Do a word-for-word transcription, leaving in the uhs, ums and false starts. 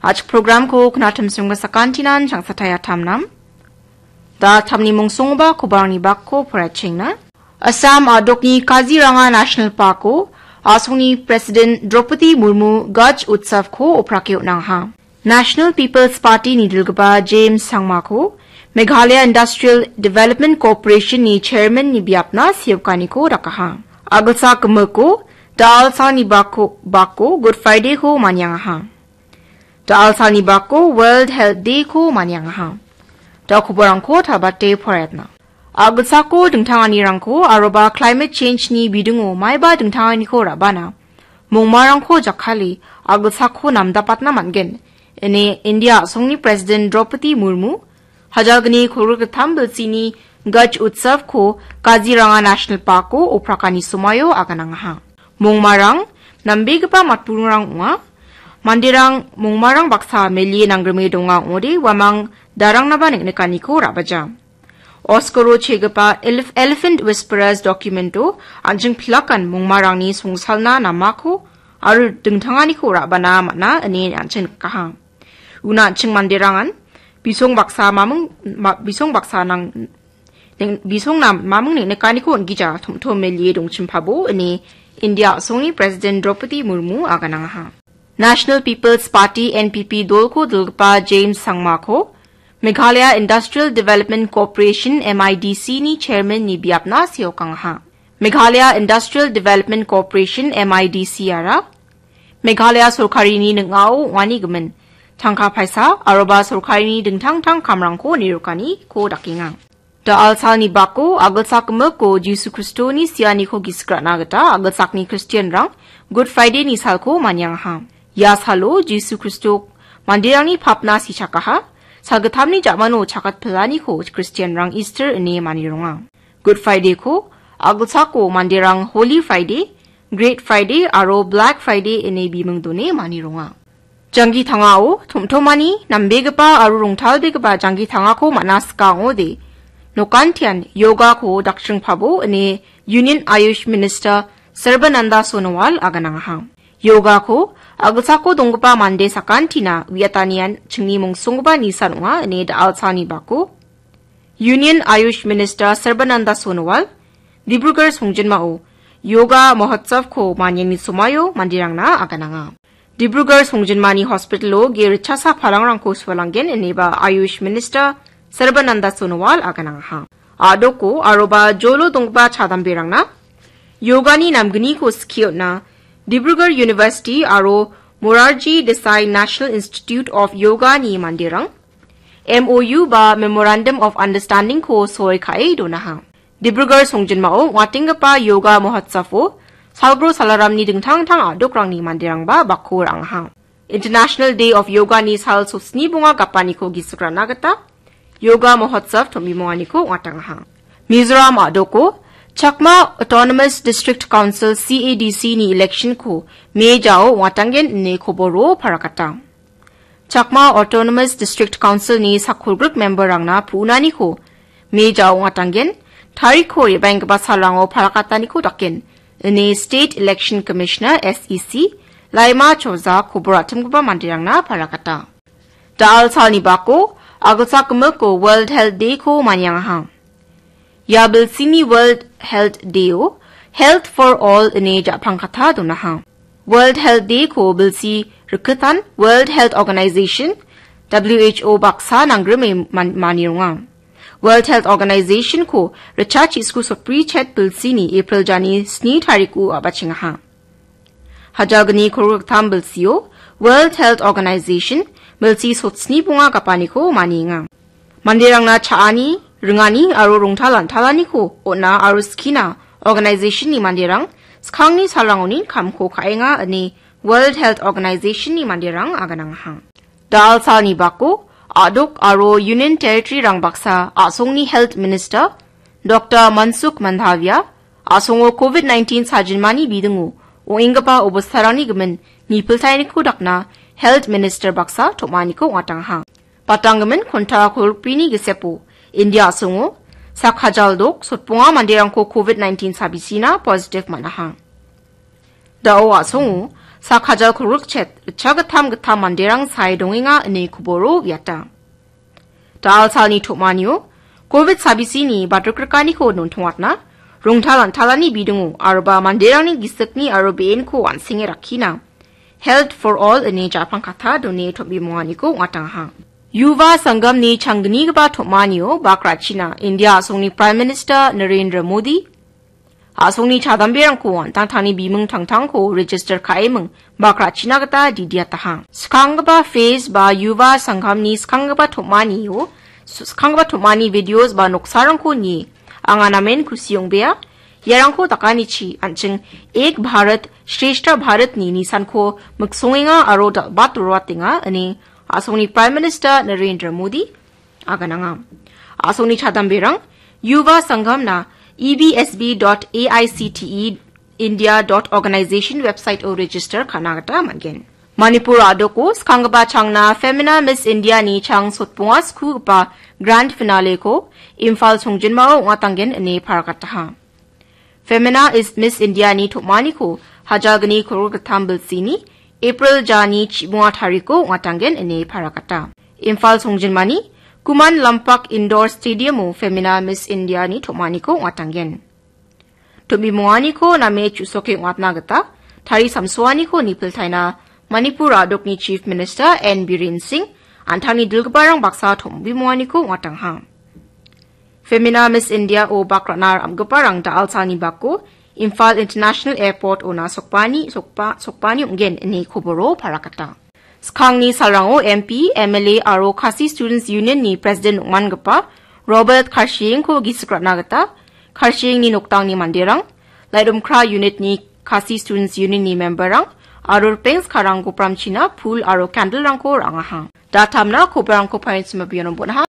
A·chik programko knatimsongga sakantinan changsatai atamnam. Da tamni mungsongba kobarangni bakko poraichengna. Assam a·dokni Kaziranga National Parko a·songni President Draupadi Murmu Gaj Utsavko oprake on·angaha. National People's Party nidilgipa James Sangmako Meghalaya Industrial Development Corporation-ni chairman-ni biapna seokaniko dakaha. Agilsak gimiko da·alsalni bako, bako Good Friday-ko maniangaha. Da·alsalni bako World Health Day-ko maniangaha. Da koborangko tabate poraiatna. Agilsako dingtanganirangko aroba climate change-ni bidingo maiba dingtanganiko ra·bana mongmarangko jakkale agilsako namdapatna man·gen, ine India a·songni President Draupadi Murmu hajalgni kolgrittam bilsini Gaj Utsavko Kaziranga National Parko oprakani somoio aganangaha. Mongmarang nambegipa matburingrang ong·a. Manderang mongmarang baksa melie nanggrime donga ong·ode uamang darangnaba neng·nikaniko ra·baja. Oskaro chegipa Elef-, Elephant Whisperers documento an·ching pilakan mongmarangni songsalna namako aro dingtanganiko ra·bana man·a ine an·ching nikaha. Una an·ching manderangan bisong baksa maming, ma-, bisong baksa nang-, neng-, bisongna maming neng·nikaniko on·gija tom·tom melie dongchimpabo ine India a·songni President Draupadi Murmu aganangaha. National People's Party, N P P, dolko dilgipa James Sangmako Meghalaya Industrial Development Corporation, M I D C-ni chairman-ni biapna seokangaha. Meghalaya Industrial Development Corporation, M I D C-ara Meghalaya sorkarini ning·ao ong·ani gimin tangka paisa aroba sorkarini dingtang tang kamrangko nirokaniko dakenga. Da·alsalni bako agilsak gimiko Jisu Kristoni sianiko gisik ra·na gita agilsakni Kristianrang Good Friday-ni salko maniangaha. Ia salo Jisu Kristo manderangni papna sichakaha, salgittamni ja·mano chakatpilaniko Kristianrang Easter ine manironga. Good Friday-ko agilsako manderang Holy Friday, Great Friday aro Black Friday ine biming done manironga. Janggi tangao tom·tomani nambegipa aro rongtalbegipa janggi tangako man·a sika ong·ode, nokantian yogako dakchingpabo ine Union Ayush Minister Sarbananda Sonowal aganangaha. Yogako agilsako donggipa mande sakantina uiatanian chingni mongsonggipa nisan ong·a ine da·alsalni bako Union Ayush Minister Sarbananda Sonowal Dibrugarh songjinmao Yoga Mahotsavko maniani somoio manderangna agananga. Dibrugarh songjinmani hospitalo ge ritchasa palangrangko sualanggen ineba Ayush Minister Sarbananda Sonowal aganangaha. A·doko aroba jolo donggipa chadamberangna yogani namgniko skie on·a Dibrugarh University aro Morarji Desai National Institute of Yoga-ni manderang M O U ba Memorandum of Understanding-ko soi ka·e donaha. Dibrugarh songjinmao ong·atenggipa Yoga Mahotsavo Salgro Salaramni dingtang dingtang a·dokrangni manderangba bakko ra·angaha. International Day of Yoga-ni sal sosni bonga gapaniko gisik ra·na gita Yoga Mahotsav tom·bimonganiko ong·atangaha. Mizoram a·doko Chakma Autonomous District Council, C A D C-ni election-ko May jao ong·atanggen ine koboro parakata. Chakma Autonomous District Council-ni sakolgrik member-rangna pu·naniko May jao ong·atanggen, tarikko re·baenggipa salrango parakataniko daken, ine State Election Commissioner, S E C, Laima Choja kobor atimgipa manderangna parakata. Da·al salni bako, agilsak gimiko World Health Day-ko maniangaha. Ia bilsini World Health Day-o Health for All ine ja·pangkata donaha. World Health Day-ko bilsi rikitan World Health Organization, W H O baksa nanggrime man-, manironga. World Health Organization-ko ritchachisku sotbri chet bilsini April jani sni tariko a·bachengaha. Hajalgni kolgriktam bilsio World Health Organization bilsi sotsni bonga gapaniko manienga. Manderangna cha·ani, ringani aro rongtal antalaniko on·a aro skina organization-ni manderang skangni salrangoni kamko ka·enga ine World Health Organization-ni manderang aganangaha. Da·al salni bako, a·dok aro Union Territory-rang baksa a·songni Health Minister Doctor Mansukh Mandaviya a·songo covid nineteen sajinmani bidingo ong·enggipa obostarangni gimin nipiltaeniko dakna Health Minister baksa tom·aniko ong·atangaha. Batanggimin konta kolgrikbrini gisepo India a·songo sak hajal dok sotbonga manderangko covid nineteen sabisina positive man·aha. Da·o a·songo Sak hajal kolgrikchet ritchagittam gittam manderang sae dongenga ine koboro uiata. Da·alsalni tom·anio covid sabisini batrikrikaniko nontongatna, rongtal an·talani bidingo aroba manderangni gisikni aro be·enko an·senge rakkina, Health for All ine ja·pangkata done tom·bimonganiko ong·atangaha. Yuva Sangamni changgnigipa tom·anio bakrachina India a·songni Prime Minister Narendra Modi, a·songni chadamberangko an·tangtangni biming tangtangko register ka·eming bakrachina gita didiataha. Skanggipa phase ba Yuva Sangamni skanggipa tom·anio, skanggipa tom·ani videos ba noksarangko nie anga namen kusi ong·bea. Iarangko dakanichi an·ching Ek Bharat Shreshtha Bharatni nisanko miksongenga aro dal·bat roatenga ine a·songni Prime Minister Narendra Modi agananga. A·songni chadamberang Yuva Sangamna E B S B dot A I C T E India dot organization website-o register ka·na gita man·gen. Manipur a·doko skanggipa changna Femina Miss India-ni chang sotbonga skugipa grand finale-ko Imphal songjinmao ong·atanggen ine paragataha. Femina is Miss India-ni tom·aniko hajalgni kolgrikgittam bilsini April jani chibonga tariko ong·atanggen ine paragata. Imphal songjinmani Kuman Lampak Indoor Stadium-o Femina Miss India-ni tom·aniko ong·atanggen. Tom·bimonganiko name chu·soke ong·atna gita tari samsoaniko nipiltaina Manipur a·dokni Chief Minister N Biren Singh an·tangni dilgiparang baksa tom·bimonganiko ong·atangaha. Femina Miss India-o bak ra·na ra·giparang da·alsalni bako Imphal International Airport-ona sokbani, sokba-, sokbani ong·gen ine koboro paragata. Skangni salrango M P, M L A aro Khasi Students Union-ni President ong·mangipa Robert Kharshengko gisik ra·na gita Kharshengni noktangni manderang, Laitumkhrah Unit-ni Khasi Students Union-ni member-rang aro ripeng skarang gopramchina pul aro candle-rangko ra·angaha. Datamna kobarangko painchima bianon bon·aha.